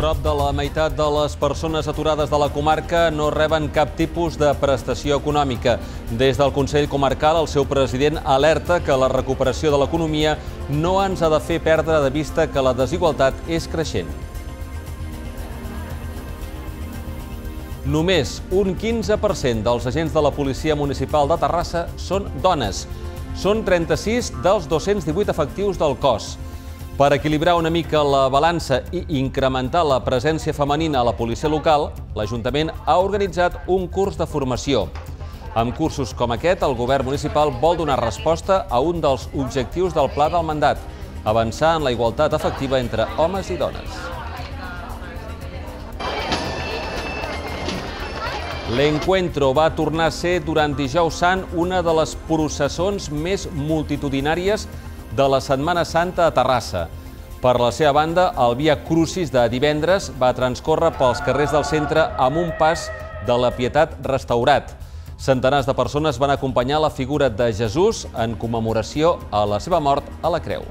Prop de la meitat de les persones aturades de la comarca no reben cap tipus de prestació econòmica. Des del Consell Comarcal, el seu president alerta que la recuperació de l'economia no ens ha de fer perdre de vista que la desigualtat és creixent. Només un 15% dels agents de la Policia Municipal de Terrassa són dones. Són 36 dels 218 efectius del cos. Per equilibrar una mica la balança i incrementar la presència femenina a la policia local, l'Ajuntament ha organitzat un curs de formació. Amb cursos com aquest, el govern municipal vol donar resposta a un dels objectius del pla del mandat, avançar en la igualtat efectiva entre homes i dones. L'Encuentro va tornar a ser durant Dijous Sant una de les processons més multitudinàries de la Setmana Santa a Terrassa. Per la seva banda, el Via Crucis de divendres va transcórrer pels carrers del centre amb un pas de la Pietat restaurat. Centenars de persones van acompanyar la figura de Jesús en commemoració a la seva mort a la creu.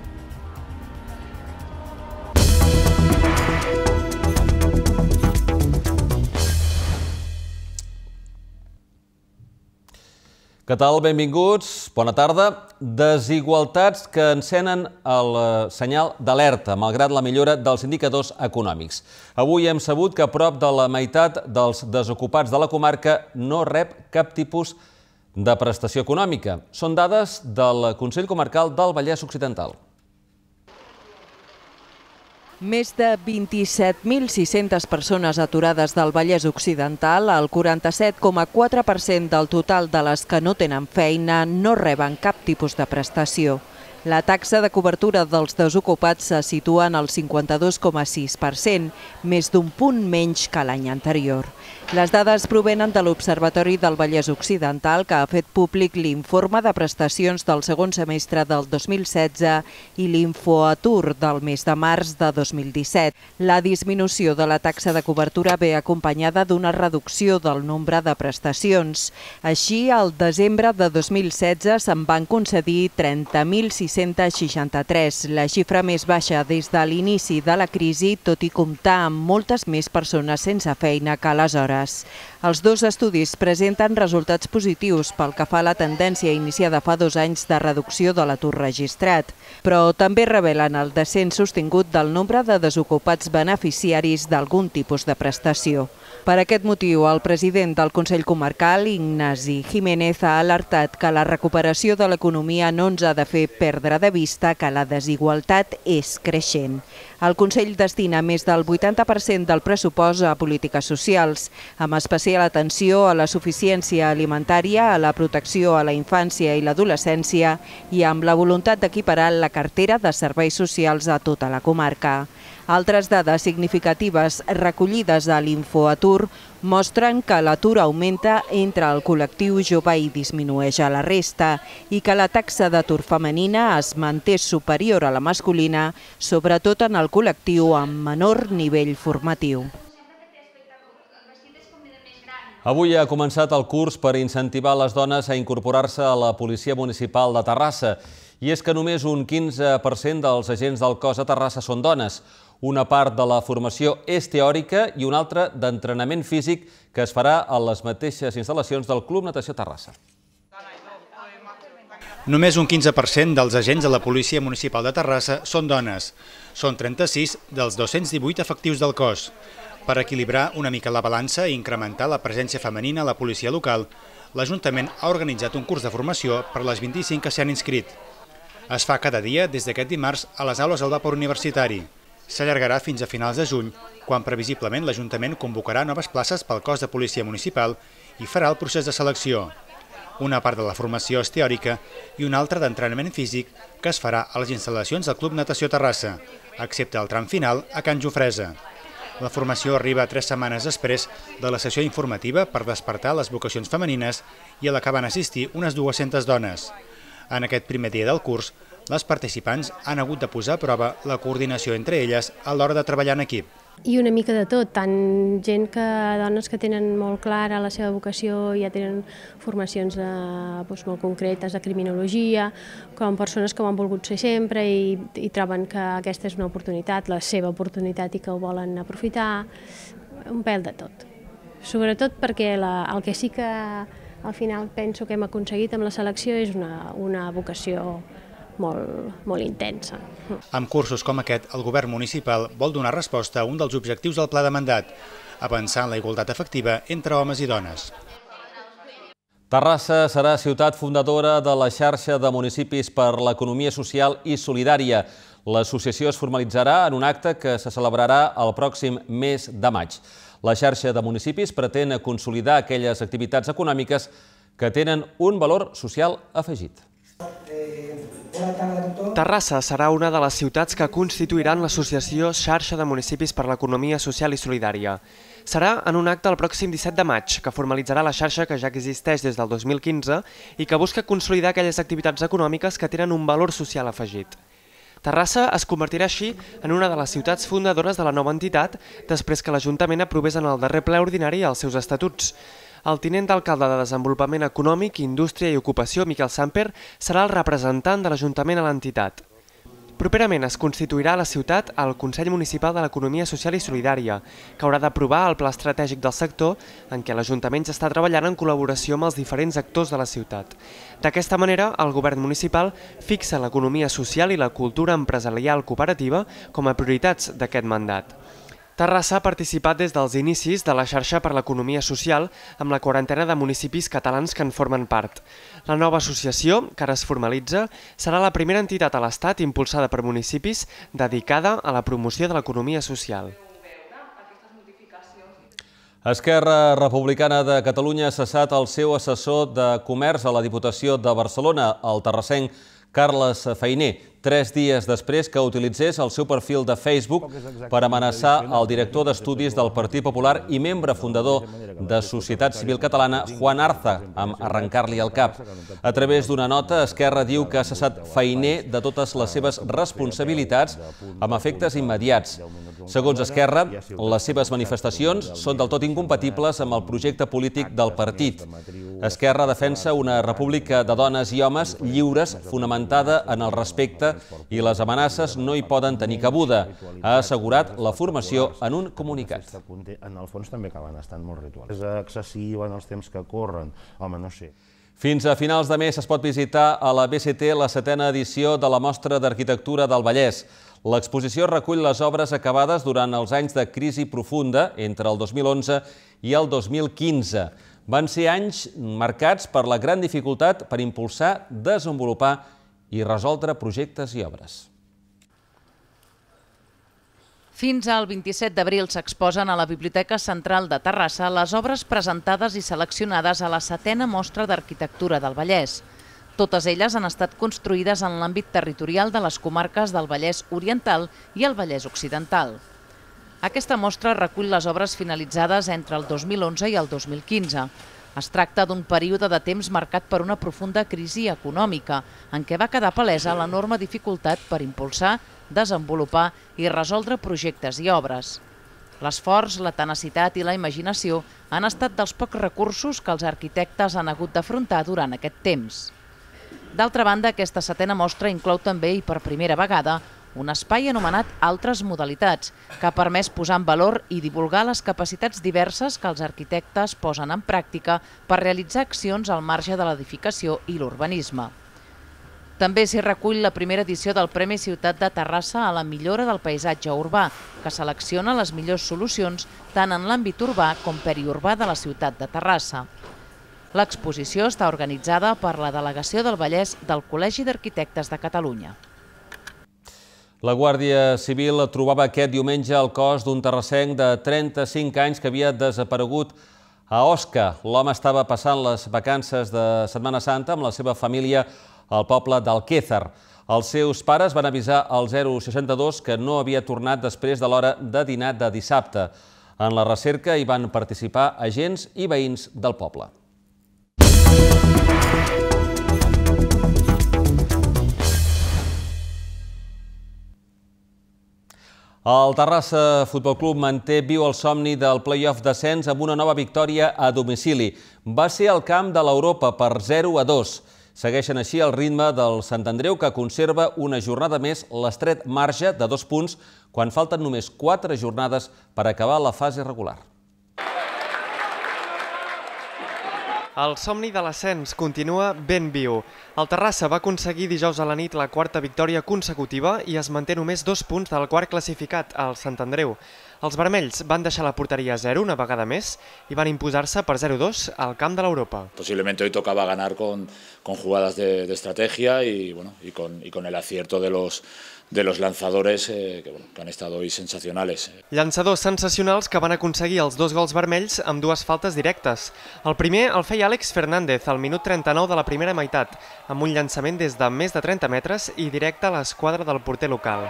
Què tal? Benvinguts. Bona tarda. Desigualtats que encenen el senyal d'alerta, malgrat la millora dels indicadors econòmics. Avui hem sabut que prop de la meitat dels desocupats de la comarca no rep cap tipus de prestació econòmica. Són dades del Consell Comarcal del Vallès Occidental. Més de 27.600 persones aturades del Vallès Occidental, el 47,4% del total de les que no tenen feina, no reben cap tipus de prestació. La taxa de cobertura dels desocupats se situa en el 52,6%, més d'un punt menys que l'any anterior. Les dades provenen de l'Observatori del Vallès Occidental, que ha fet públic l'informe de prestacions del segon semestre del 2016 i l'Infoatur del mes de març de 2017. La disminució de la taxa de cobertura ve acompanyada d'una reducció del nombre de prestacions. Així, al desembre de 2016 se'n van concedir 30.663, la xifra més baixa des de l'inici de la crisi, tot i comptar amb moltes més persones sense feina que aleshores. Els dos estudis presenten resultats positius pel que fa a la tendència iniciada fa 2 anys de reducció de l'atur registrat, però també revelen el descens sostingut del nombre de desocupats beneficiaris d'algun tipus de prestació. Per aquest motiu, el president del Consell Comarcal, Ignasi Jiménez, ha alertat que la recuperació de l'economia no ens ha de fer perdre de vista que la desigualtat és creixent. El Consell destina més del 80% del pressupost a polítiques socials, amb especial atenció a la suficiència alimentària, a la protecció a la infància i l'adolescència i amb la voluntat d'equiparar la cartera de serveis socials a tota la comarca. Altres dades significatives recollides a l'Infoatur mostren que l'atur augmenta entre el col·lectiu jove i disminueix a la resta i que la taxa d'atur femenina es manté superior a la masculina, sobretot en el col·lectiu amb menor nivell formatiu. Avui ha començat el curs per incentivar les dones a incorporar-se a la Policia Municipal de Terrassa. I és que només un 15% dels agents del cos a Terrassa són dones. Una part de la formació és teòrica i una altra d'entrenament físic que es farà a les mateixes instal·lacions del Club Natació Terrassa. Només un 15% dels agents de la Policia Municipal de Terrassa són dones. Són 36 dels 218 efectius del cos. Per equilibrar una mica la balança i incrementar la presència femenina a la policia local, l'Ajuntament ha organitzat un curs de formació per les 25 que s'hi han inscrit. Es fa cada dia des d'aquest dimarts a les aules del vapor universitari. S'allargarà fins a finals de juny, quan previsiblement l'Ajuntament convocarà noves places pel cos de policia municipal i farà el procés de selecció. Una part de la formació és teòrica i una altra d'entrenament físic que es farà a les instal·lacions del Club Natació Terrassa, excepte el tram final a Can Jofresa. La formació arriba 3 setmanes després de la sessió informativa per despertar les vocacions femenines i a la que van assistir unes 200 dones. En aquest primer dia del curs, Les participants han hagut de posar a prova la coordinació entre elles a l'hora de treballar en equip. I una mica de tot, tant dones que tenen molt clara la seva vocació i ja tenen formacions molt concretes de criminologia, com persones que ho han volgut ser sempre i troben que aquesta és una oportunitat, la seva oportunitat i que ho volen aprofitar, un pèl de tot. Sobretot perquè el que sí que al final penso que hem aconseguit amb la selecció és una vocació molt intensa. Amb cursos com aquest, el govern municipal vol donar resposta a un dels objectius del pla de mandat, avançar en la igualtat efectiva entre homes i dones. Terrassa serà ciutat fundadora de la xarxa de municipis per l'economia social i solidària. L'associació es formalitzarà en un acte que se celebrarà el pròxim mes de maig. La xarxa de municipis pretén consolidar aquelles activitats econòmiques que tenen un valor social afegit. Terrassa serà una de les ciutats que constituiran l'associació Xarxa de Municipis per l'Economia Social i Solidària. Serà en un acte el pròxim 17 de maig, que formalitzarà la xarxa que ja existeix des del 2015 i que busca consolidar aquelles activitats econòmiques que tenen un valor social afegit. Terrassa es convertirà així en una de les ciutats fundadores de la nova entitat després que l'Ajuntament aprovés en el darrer ple ordinari els seus estatuts. El tinent d'alcalde de Desenvolupament Econòmic, Indústria i Ocupació, Miquel Samper, serà el representant de l'Ajuntament a l'entitat. Properament es constituirà a la ciutat el Consell Municipal de l'Economia Social i Solidària, que haurà d'aprovar el pla estratègic del sector en què l'Ajuntament ja està treballant en col·laboració amb els diferents actors de la ciutat. D'aquesta manera, el govern municipal fixa l'economia social i la cultura empresarial cooperativa com a prioritats d'aquest mandat. Terrassa ha participat des dels inicis de la xarxa per l'economia social amb la quarantena de municipis catalans que en formen part. La nova associació, que ara es formalitza, serà la primera entitat a l'Estat impulsada per municipis dedicada a la promoció de l'economia social. Esquerra Republicana de Catalunya ha cessat el seu assessor de comerç a la Diputació de Barcelona, el terrassenc Carles Fainé, 3 dies després que utilitzés el seu perfil de Facebook per amenaçar el director d'estudis del Partit Popular i membre fundador de Societat Civil Catalana, Juan Arza, amb arrencar-li el cap. A través d'una nota, Esquerra diu que ha cessat Fainé de totes les seves responsabilitats amb efectes immediats. Segons Esquerra, les seves manifestacions són del tot incompatibles amb el projecte polític del partit. Esquerra defensa una república de dones i homes lliures fonamentada en el respecte i les amenaces no hi poden tenir cabuda, ha assegurat la formació en un comunicat. En el fons també acaben estant molt rituals. És excessiu en els temps que corren, home, no sé. Fins a finals de mes es pot visitar a la BCT la 7a edició de la Mostra d'Arquitectura del Vallès. L'exposició recull les obres acabades durant els anys de crisi profunda entre el 2011 i el 2015. Van ser anys marcats per la gran dificultat per impulsar, desenvolupar i resoldre projectes i obres. Fins al 27 d'abril s'exposen a la Biblioteca Central de Terrassa les obres presentades i seleccionades a la 7a Mostra d'Arquitectura del Vallès. Totes elles han estat construïdes en l'àmbit territorial de les comarques del Vallès Oriental i el Vallès Occidental. Aquesta mostra recull les obres finalitzades entre el 2011 i el 2015. Es tracta d'un període de temps marcat per una profunda crisi econòmica, en què va quedar palesa l'enorme dificultat per impulsar, desenvolupar i resoldre projectes i obres. L'esforç, la tenacitat i la imaginació han estat dels pocs recursos que els arquitectes han hagut d'afrontar durant aquest temps. D'altra banda, aquesta 7a mostra inclou també, i per primera vegada, un espai anomenat Altres Modalitats, que ha permès posar en valor i divulgar les capacitats diverses que els arquitectes posen en pràctica per realitzar accions al marge de l'edificació i l'urbanisme. També s'hi recull la primera edició del Premi Ciutat de Terrassa a la millora del paisatge urbà, que selecciona les millors solucions tant en l'àmbit urbà com periurbà de la ciutat de Terrassa. L'exposició està organitzada per la Delegació del Vallès del Col·legi d'Arquitectes de Catalunya. La Guàrdia Civil trobava aquest diumenge el cos d'un terrassenc de 35 anys que havia desaparegut a Osca. L'home estava passant les vacances de Setmana Santa amb la seva família al poble d'Alquézar. Els seus pares van avisar al 062 que no havia tornat després de l'hora de dinar de dissabte. En la recerca hi van participar agents i veïns del poble. El Terrassa Futbol Club manté viu el somni del play-off d'ascens amb una nova victòria a domicili. Va ser al camp de l'Europa per 0-2. Segueixen així el ritme del Sant Andreu, que conserva una jornada més l'estret marge de 2 punts quan falten només 4 jornades per acabar la fase regular. El somni de l'ascens continua ben viu. El Terrassa va aconseguir dijous a la nit la quarta victòria consecutiva i es manté només 2 punts del quart classificat, el Sant Andreu. Els vermells van deixar la porteria a 0 una vegada més i van imposar-se per 0-2 al camp de l'Europa. Posiblemente hoy tocaba ganar con jugadas de estrategia y con el acierto de los lanzadores que han estado hoy sensacionales. Llançadors sensacionals que van aconseguir els 2 gols vermells amb 2 faltes directes. El primer el feia Àlex Fernández al minut 39 de la primera meitat, amb un llançament des de més de 30 metres i directe a l'esquadra del porter local.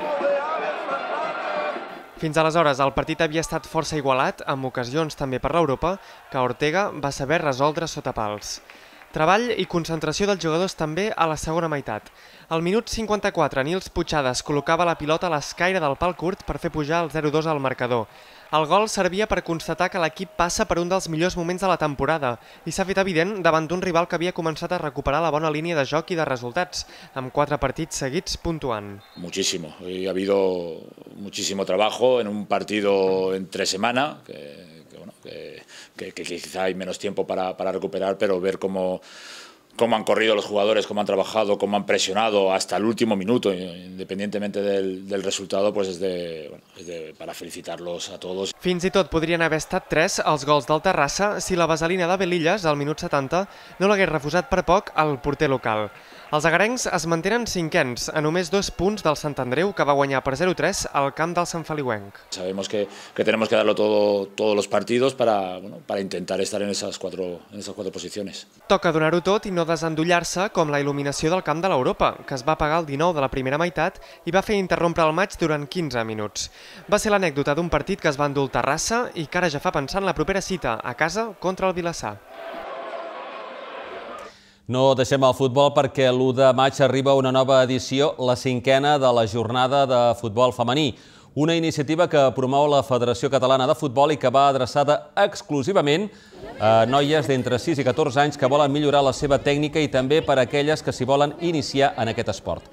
Fins aleshores, el partit havia estat força igualat, amb ocasions també per l'Europa, que Ortega va saber resoldre sota pals. Treball i concentració dels jugadors també a la segona meitat. Al minut 54, Nils Puigades col·locava la pilota a l'escaire del pal curt per fer pujar el 0-2 al marcador. El gol servia per constatar que l'equip passa per un dels millors moments de la temporada i s'ha fet evident davant d'un rival que havia començat a recuperar la bona línia de joc i de resultats, amb 4 partits seguits puntuant. Muchísimo. Hoy ha habido muchísimo trabajo en un partido entre semana, que quizá hay menos tiempo para recuperar, pero ver cómo han corrido los jugadores, cómo han trabajado, cómo han presionado hasta el último minuto, independientemente del resultado, pues para felicitarlos a todos. Fins i tot podrien haver estat 3 els gols del Terrassa si la vaselina de Belillas, al minut 70, no l'hagués refusat per poc al porter local. Els agarencs es mantenen cinquens, a només 2 punts del Sant Andreu, que va guanyar per 0-3 al camp del Sant Feliuenc. Sabemos que tenemos que darlo todo todos los partidos para intentar estar en esas cuatro posiciones. Toca donar-ho tot i no desendollar-se, com la il·luminació del camp de l'Europa, que es va apagar el 19 de la primera meitat i va fer interrompre el maig durant 15 minuts. Va ser l'anècdota d'un partit que es va endur el Terrassa i que ara ja fa pensar en la propera cita, a casa contra el Vilassar. No deixem el futbol perquè l'1 de maig arriba una nova edició, la 5a de la jornada de futbol femení. Una iniciativa que promou la Federació Catalana de Futbol i que va adreçada exclusivament a noies d'entre 6 i 14 anys que volen millorar la seva tècnica i també per a aquelles que s'hi volen iniciar en aquest esport.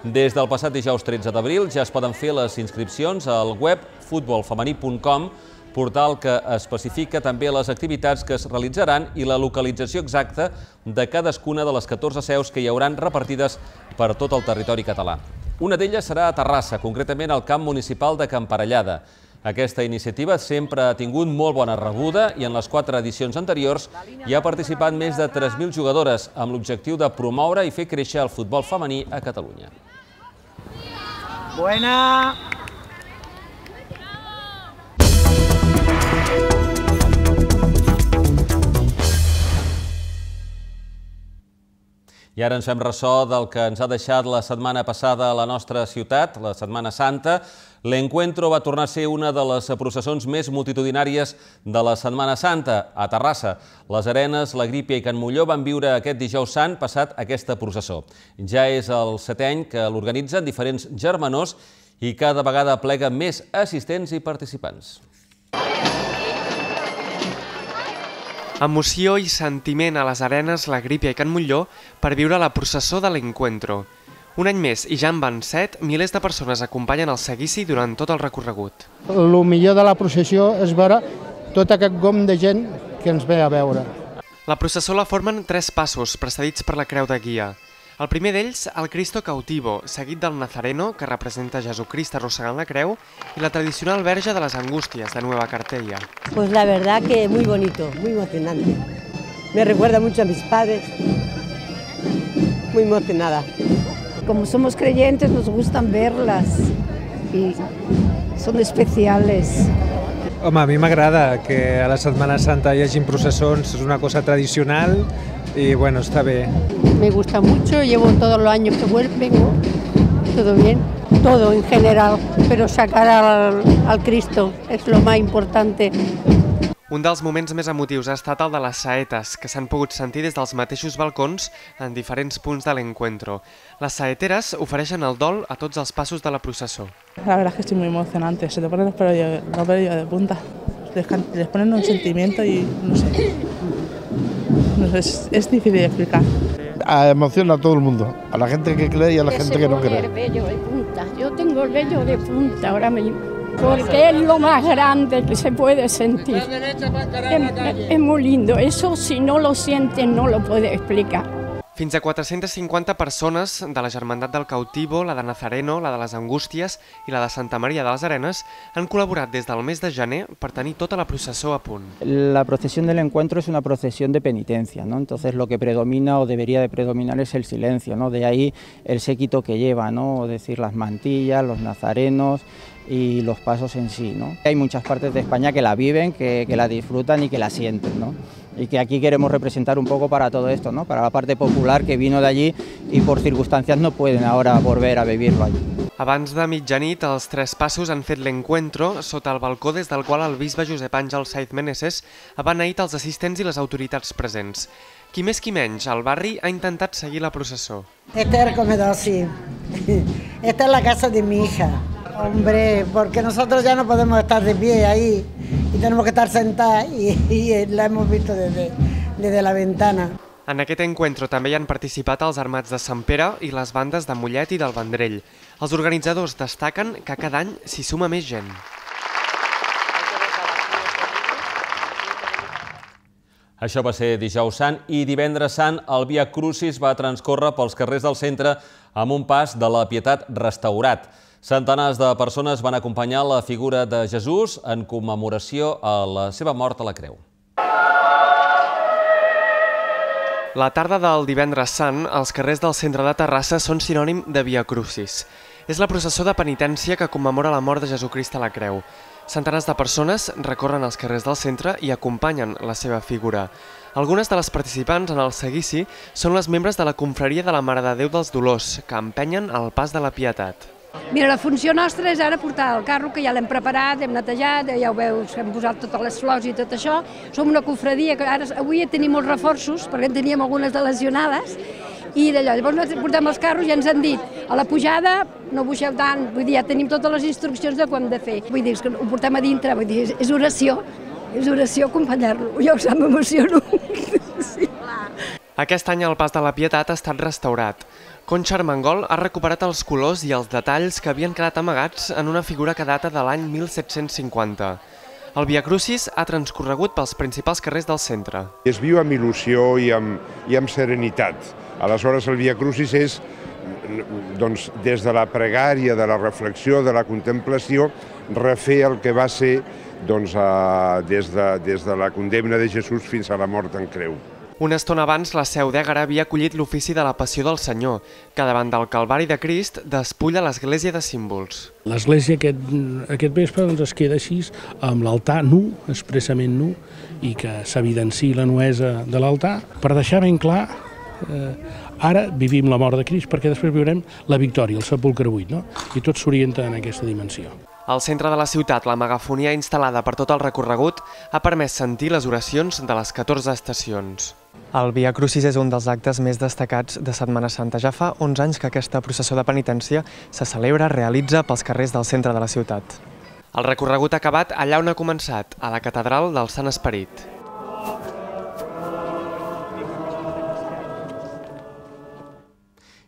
Des del passat dijous 13 d'abril ja es poden fer les inscripcions al web futbolfemení.com, portal que especifica també les activitats que es realitzaran i la localització exacta de cadascuna de les 14 seus que hi hauran repartides per tot el territori català. Una d'elles serà a Terrassa, concretament al camp municipal de Camparellada. Aquesta iniciativa sempre ha tingut molt bona rebuda i en les 4 edicions anteriors hi ha participat més de 3.000 jugadores amb l'objectiu de promoure i fer créixer el futbol femení a Catalunya. Buena! I ara ens fem ressò del que ens ha deixat la setmana passada a la nostra ciutat, la Setmana Santa. L'Encuentro va tornar a ser una de les processons més multitudinàries de la Setmana Santa. A Terrassa, les Arenes, la Grípia i Can Molló van viure aquest dijous sant passat aquesta processó. Ja és el 7è any que l'organitzen diferents germanors i cada vegada plega més assistents i participants. Emoció i sentiment a les Arenes, la Grípia i Can Molló per viure la processó de l'Encuentro. Un any més, i ja en van 7, milers de persones acompanyen el seguici durant tot el recorregut. El millor de la processió és veure tot aquest gom de gent que ens ve a veure. La processó la formen 3 passos, precedits per la creu de guia. El primer d'ells, el Cristo Cautivo, seguit del Nazareno, que representa Jesucrist arrossegant la creu, i la tradicional Verge de les Angústias, de Nueva Cartella. Pues la verdad que muy bonito, muy emocionante. Me recuerda mucho a mis padres. Muy emocionada. Como somos creyentes nos gustan verlas y son especiales. Home, a mi m'agrada que a la Setmana Santa hi hagi processons, és una cosa tradicional y bueno, está bien. Me gusta mucho, llevo todos los años que vengo, todo bien, todo en general, pero sacar al Cristo es lo más importante. Un dels moments més emotius ha estat el de les saetes, que s'han pogut sentir des dels mateixos balcons en diferents punts de l'encuentro. Les saeteres ofereixen el dol a tots els passos de la processó. La verdad es que estoy muy emocionante, se te ponen los pelos de punta, les ponen un sentimiento y no sé, es difícil de explicar. Emociona a todo el mundo, a la gente que cree y a la gente que no cree. El vello de punta, yo tengo el vello de punta ahora mismo. Porque es lo más grande que se puede sentir. Es muy lindo, eso si no lo sientes no lo puedes explicar. Fins a 450 persones de la Germandat del Cautivo, la de Nazareno, la de les Angústies i la de Santa Maria de les Arenes han col·laborat des del mes de gener per tenir tota la processó a punt. La procesión del encuentro es una procesión de penitencia, ¿no? Entonces lo que predomina o debería de predominar es el silencio, ¿no? De ahí el séquito que lleva, ¿no? Es decir, las mantillas, los nazarenos y los pasos en sí, ¿no? Hay muchas partes de España que la viven, que la disfrutan y que la sienten, ¿no? Y que aquí queremos representar un poco para todo esto, ¿no? Para la parte popular que vino de allí y por circunstancias no pueden ahora volver a vivirlo allí. Abans de mitjanit, els tres passos han fet l'encuentro sota el balcó des del qual el bisbe Josep Àngel Saiz Meneses ha beneït els assistents i les autoritats presents. Qui més qui menys, el barri ha intentat seguir la processó. Este es el comedor, sí. Esta es la casa de mi hija. Hombre, porque nosotros ya no podemos estar de pie ahí y tenemos que estar sentados y la hemos visto desde la ventana. En aquest encuentro també hi han participat els Armats de Sant Pere i les bandes de Mollet i del Vendrell. Els organitzadors destaquen que cada any s'hi suma més gent. Això va ser dijous sant i divendres sant el Via Crucis va transcórrer pels carrers del centre amb un pas de la Pietat restaurat. Centenars de persones van acompanyar la figura de Jesús en commemoració a la seva mort a la creu. La tarda del divendres sant, els carrers del centre de Terrassa són sinònim de Via Crucis. És la processó de penitència que commemora la mort de Jesucrist a la creu. Centenars de persones recorren els carrers del centre i acompanyen la seva figura. Algunes de les participants en el seguici són les membres de la confraria de la Mare de Déu dels Dolors, que empenyen el pas de la Pietat. Mira, la funció nostra és ara portar el carro, que ja l'hem preparat, hem netejat, ja ho veus, hem posat totes les flors i tot això. Som una confraria que ara avui tenim molts reforços, perquè en teníem algunes de lesionades, i d'allò, llavors portem els carros i ens han dit a la pujada no buixeu tant, vull dir, ja tenim totes les instruccions de què hem de fer. Vull dir, que ho portem a dintre, vull dir, és oració acompanyar-lo, jo m'emociono. Sí. Aquest any el pas de la Pietat ha estat restaurat. Concha Armengol ha recuperat els colors i els detalls que havien quedat amagats en una figura que data de l'any 1750. El Via Crucis ha transcorregut pels principals carrers del centre. Es viu amb il·lusió i amb serenitat. Aleshores, el Via Crucis és, des de la pregària, de la reflexió, de la contemplació, refer el que va ser des de la condemna de Jesús fins a la mort en creu. Una estona abans, la Seu d'Ègara havia acollit l'ofici de la Passió del Senyor, que davant del Calvari de Crist despulla l'església de símbols. L'església aquest vespre es queda així amb l'altar nu, expressament nu, i que s'evidenciï la nuesa de l'altar per deixar ben clar ara vivim la mort de Crist perquè després viurem la victòria, el sepulcre buit, no? I tot s'orienta en aquesta dimensió. Al centre de la ciutat, la megafonia instal·lada per tot el recorregut ha permès sentir les oracions de les 14 estacions. El Via Crucis és un dels actes més destacats de Setmana Santa. Ja fa 11 anys que aquesta processó de penitència se celebra, realitza pels carrers del centre de la ciutat. El recorregut ha acabat allà on ha començat, a la Catedral del Sant Esperit.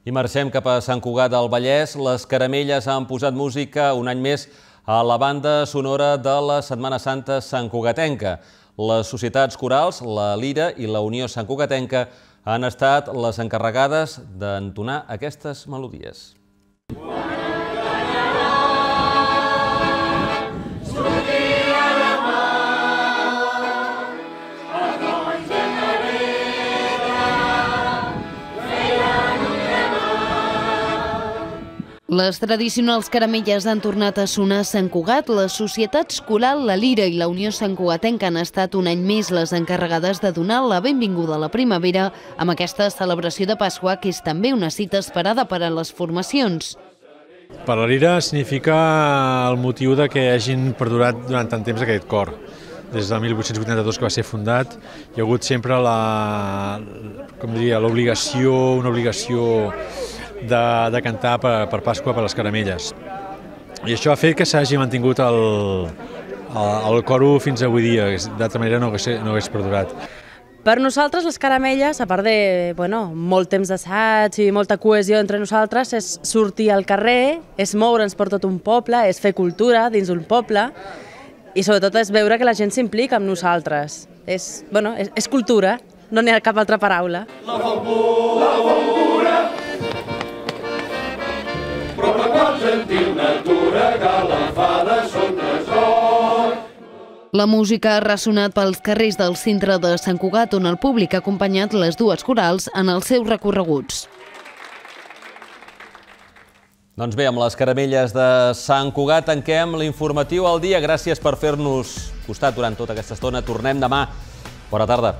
I marxem cap a Sant Cugat del Vallès. Les Caramelles han posat música un any més a la banda sonora de la Setmana Santa santcugatenca. Les societats corals, la Lira i la Unió Santcugatenca han estat les encarregades d'entonar aquestes melodies. Les tradicionals caramelles han tornat a sonar a Sant Cugat. Les societats Coral, la Lira i la Unió Santcugatenca han estat un any més les encarregades de donar la benvinguda a la primavera amb aquesta celebració de Pasqua, que és també una cita esperada per a les formacions. Per la Lira significa el motiu de que hagin perdurat durant tant temps aquest cor. des de 1882 que va ser fundat, hi ha hagut sempre l'obligació, una obligació de cantar per Pasqua per les caramelles. I això ha fet que s'hagi mantingut el coro fins avui dia, d'altra manera no hagués perdurat. Per nosaltres les caramelles, a part de molt temps d'assaig i molta cohesió entre nosaltres, és sortir al carrer, és moure'ns per tot un poble, és fer cultura dins un poble i sobretot és veure que la gent s'implica amb nosaltres. És cultura, no n'hi ha cap altra paraula. La folgura, però la qual gentil natura galafada són tresor. La música ha ressonat pels carrers del centre de Sant Cugat, on el públic ha acompanyat les dues corals en els seus recorreguts. Doncs bé, amb les caramelles de Sant Cugat tanquem l'informatiu al dia. Gràcies per fer-nos costat durant tota aquesta estona. Tornem demà. Bona tarda.